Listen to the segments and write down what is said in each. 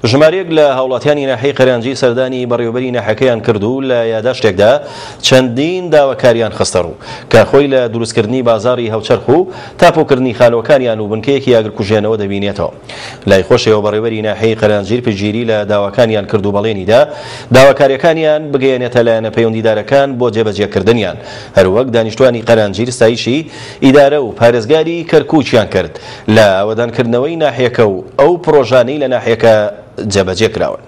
ژمارەیەک لە هاوڵاتیانی ناحیەی قەرانجی سەردانی بەڕێوەبەری ناحیەکەیان کرد و لە یاداشتێکدا چەندین داواکاریان خستەڕوو کە خۆی لە دروستکردنی بازاڕی هاوچەرخ و تاپۆکردنی خانووەکانیان و بنکەیەکی ئاگرکوژێنەوە دەبینێتەوە. لای خۆشیەوە بەڕێوەبەری ناحیەی قەرانجیر پشتگیری لە داواکانیان کرد و بەڵێنیدا داواکاریەکانیان بگەیەنێتە لایەنە پەیوەندیدارەکان بۆ جێبەجێکردنیان. هەروەک دانیشتوانی قەرانجیر ستایشی ئیدارە و پارێزگاری کەرکوکیان کرد لە ئاوەدانکردنەوەی ناحیەکە و ئەو پڕۆژانەی لە ناحیەکە جێبەجێ کراون.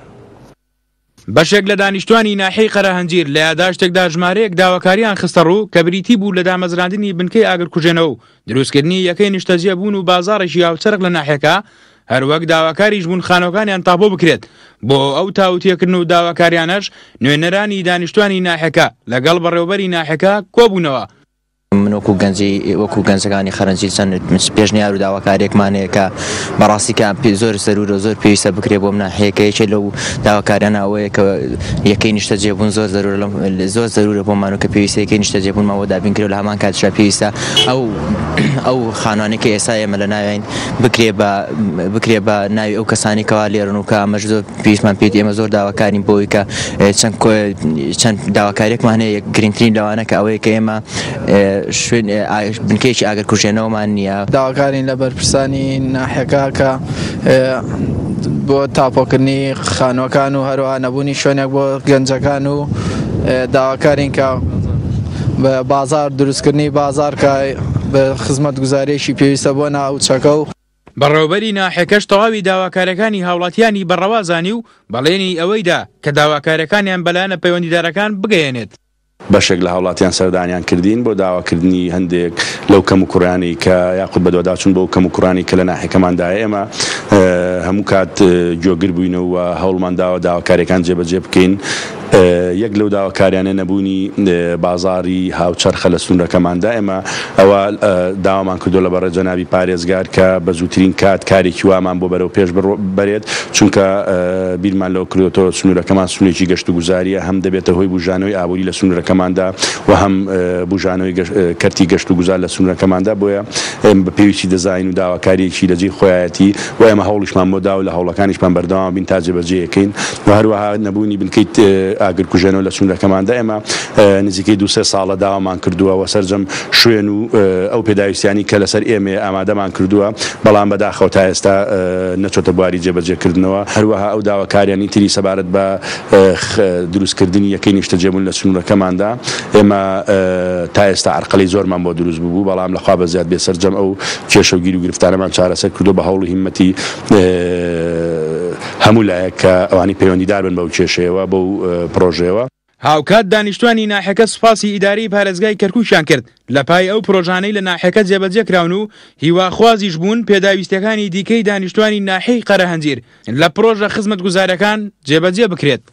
بەشێک لە دانیشتوانی ناحیەی قەرەهەنجیر لە یاداشتێکدا ژمارەیەک داواکارییان خستەڕوو کە بریتی بوو لە دامەزراندنی بنکەی ئاگرکوژێنەوە و دروستکردنی یەکەی نیشتەجێبوون و بازاڕێکی هاوچەرخ لە ناحیەکە، هەروەک داواکاریش بوون خانووەکانیان تاپۆ بکرێت، بۆ ئەو تاوتوێکردن و داواکاریانەش نوێنەرانی دانیشتوانی ناحیەکە لەگەڵ بەڕێوەبەری ناحیەکە کۆبوونەوە. من وەکو گەنجی وەکو گەنجەکانی خەرنجی چەند پێشنیار و داواکاریەکمان هەیە کە بەڕاستی کە زۆر زەرورە زۆر پێویستە بکرێ بۆم ناحیەکە یەکێ لەو داواکاریانە ئەوەیە کە یەکەی نیشتەجێبوون زۆر زەرورە لەم زۆر زەرورە بۆمان و کە پێویستە یەکەی نیشتەجێبوونمان بۆ دابین کرێ و لە هەمان کاتیشا پێویستە ئەو ئەو خانوانەی کە ئێستا ئێمە لە ناویین بکرێ بە بکرێ بە ناوی ئەو کەسانی کەوا لێرن و کە ئەمەش زۆر پێویستمان پێیەتی ئێمە زۆر داواکارین بۆ ئەوەی کە چەند چەند داواکاریەکمان هەیە گرنگترین لەوانە کە ئەوەیە کە ئێمە شوێن بنکەیەکی ئاگرکوژێنەوەمان نییە. داواکارین لە بەرپرسانی ناحیەکە کە بۆ تاپۆکردنی خانووەکان و هەروەها نەبوونی شوێنێک بۆ گەنجەکان و داواکارین کە بازار دروستکردنی بازار کە خزمەتگوزاریەکی پێویستە بۆ ناوچەکە و. بەڕێوەبەری ناحیەکەش تەواوی داواکاریەکانی هاوڵاتیانی بە ڕەوا زانی و بەڵێنی ئەوەی دا کە داواکاریەکانیان بە لایەنە پەیوەندیدارەکان بگەیەنێت. بەشێک لە هاوڵاتیان سەردانیان کردین بۆ داواکردنی هەندێک لەو کەموکوڕیانەی کە یاخود بەدواداچوون بۆ ئەو کەموکوڕانەی کە لە ناحیەکەماندایە ئێمە هەموو کات گوێگر بووینە و هەوڵمان داوە داواکاریەکان جێبەجێ بکەین. یەک لەو داواکاریانە نەبوونی بازاڕی هاوچەرخە لە سنوورەکەماندا، ئێمە ئەوە داوامان کردووە لە بەڕێز جەنابی پارێزگار کە بە زووترین کات کارێکی وامان بۆ بەرەو پێش بەرێت، چونکە بیرمان لەوە کردۆتەوە سنوورەکەمان سنوورێکی گەشتوگوزارییە، هەم دەبێتە هۆی بوژانەوەی ئابووری لە سنوورەکەماندا و هەم بوژانەوەی کەرتی گەشتوگوزار لە سنوورەکەماندا، بۆیە ئێمە بە پێویستی دەزانین و داواکارییەکی لە جێی خۆیایەتی و ئێمە هەوڵیشمان بۆ داوە و لە هەوڵەکانیشمان بەردەوام بین تا جێبەجێیەکەین و هەروەها نەبوونی بنکەی ئاگرکوژێنەوە لە سنوورەکەماندا ئێمە نزیکەی دوو سێ ساڵە داوامان کردووە و سەرجەم شوێن و ئەو پێداویستیانەی کە لەسەر ئێمەیە ئامادەمان کردووە بەڵام بەداخەوە تا ئێستا نەچۆتە بواری جێبەجێکردنەوە هەروەها ئەو داواکاریانی تری سەبارەت بە دروستکردنی یەکەی نیشتەجێبوون لە سنوورەکەماندا ئێمە تا ئێستا عەرقەلەی زۆرمان بۆ دروست ببوو بەڵام لە خوا بەزیاد بێ سەرجەم ئەو کێشە و گیروگرفتانەمان چارەسەر کردووە بە هەوڵ و هیممەتی هەموو لایەک کە ئەوانەی پەیوەندیدار بن بەو کێشەیەوە، بەو پڕۆژەیەوە. هاوکات دانیشتوانی ناحیەکە سوپاسی ئیدارەی پارێزگای کەرکوکیان کرد لە پای ئەو پرۆژانەی لە ناحیەکە جێبەجێکراون و هیواخوازیش بوون پێداویستیەکانی دیکەی دانیشتوانی ناحیەی قەرەهەنجیر لە پرۆژە خزمەتگوزاریەکان جێبەجێ بکرێت.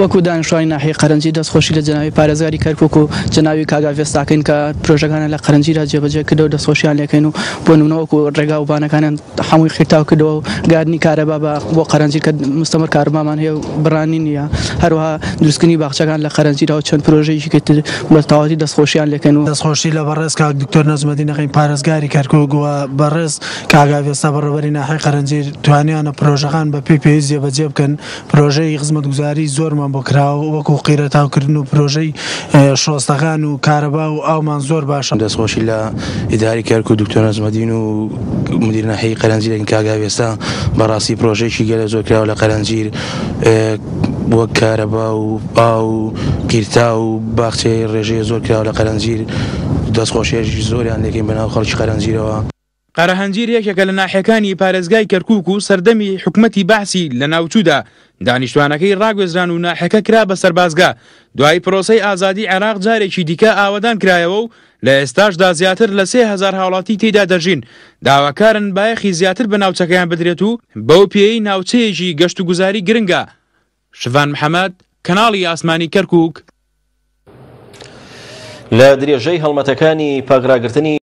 وەکو دانیشتوانی ناحیەی قەرەنجیر دەستخۆشی لە جەنابی پارێزگاری کەرکوک و جەنابی کاک ئاڤێستا ئەکەین کە پرۆژەکانیان لە قەرەنجیرا جێبەجێ کردەوە دەستخۆشیان لێکەین و بۆ نمونە وەکو ڕێگا و بانەکانیان هەمووی قیرتاو کردەوە و گاردنی کارەبا بە بۆ قەرەنجیر کە مستەمر کارەبامان هەیە و بڕانی نییە هەروەها دروستکردنی باخچەکان لە قەرەنجیرا و چەند پرۆژەیەکی تر بە تەواوەتی دەستخۆشیان لێکەین و. دەستخۆشی لە بەڕێز کاک دکتۆر نەجمەدین ئەکەین پارێزگاری کەرکوک و بەڕێز کاک ئاڤێستا بەڕێوەبەری ناحیەی قەرەنجیر توانیانە پرۆژەکان بە پێی پێویست جێبەجێ بکەن پرۆژەی خزمەتگوزاری زۆرمان بۆ کراوە وەکو قیرەتاوکردن و پرۆژەی شۆستەکان و کارەبا و ئاومان زۆر باشە. دەستخۆشی لە ئیدارەی کەرکوک دکتۆر نەجمەدین و مدیر ناحیەی قەرەنجیر ئەکەین کاک ئاوێستا بەڕاستی پرۆژەیەکی گەلە زۆر کراوە لە قەرەنجیر وەک کارەبا و ئاو و قیرتاو و باخچەی ڕێژەیە زۆر کراوە لە قەرەنجیر دەستخۆشیەکی زۆریان لێکەین بەناو خەڵکی قەرەنجیرەوە. قەرەهەنجیر یەکێکە لە ناحیەکانی پارێزگای کەرکوک و سەردەمی حکومەتی بەعسی لەناوچوودا دانیشتوانەکەی ڕاگوێزران و ناحیەکە کرا بە سەربازگە، دوای پرۆسەی ئازادی عێراق جارێکی دیکە ئاوەدان کرایەوە و لە ئێستاشدا زیاتر لە 3000 هاوڵاتی تێیدا دەژین، داواکارن بایەخی زیاتر بە ناوچەکەیان بدرێت و بەو پێیەی ناوچەیەکی گەشتوگوزاری گرنگە. شڤان محەمەد، کەناڵی ئاسمانی کەرکوک. لە درێژەی هەڵمەتەکانی پاکڕاگرتنی.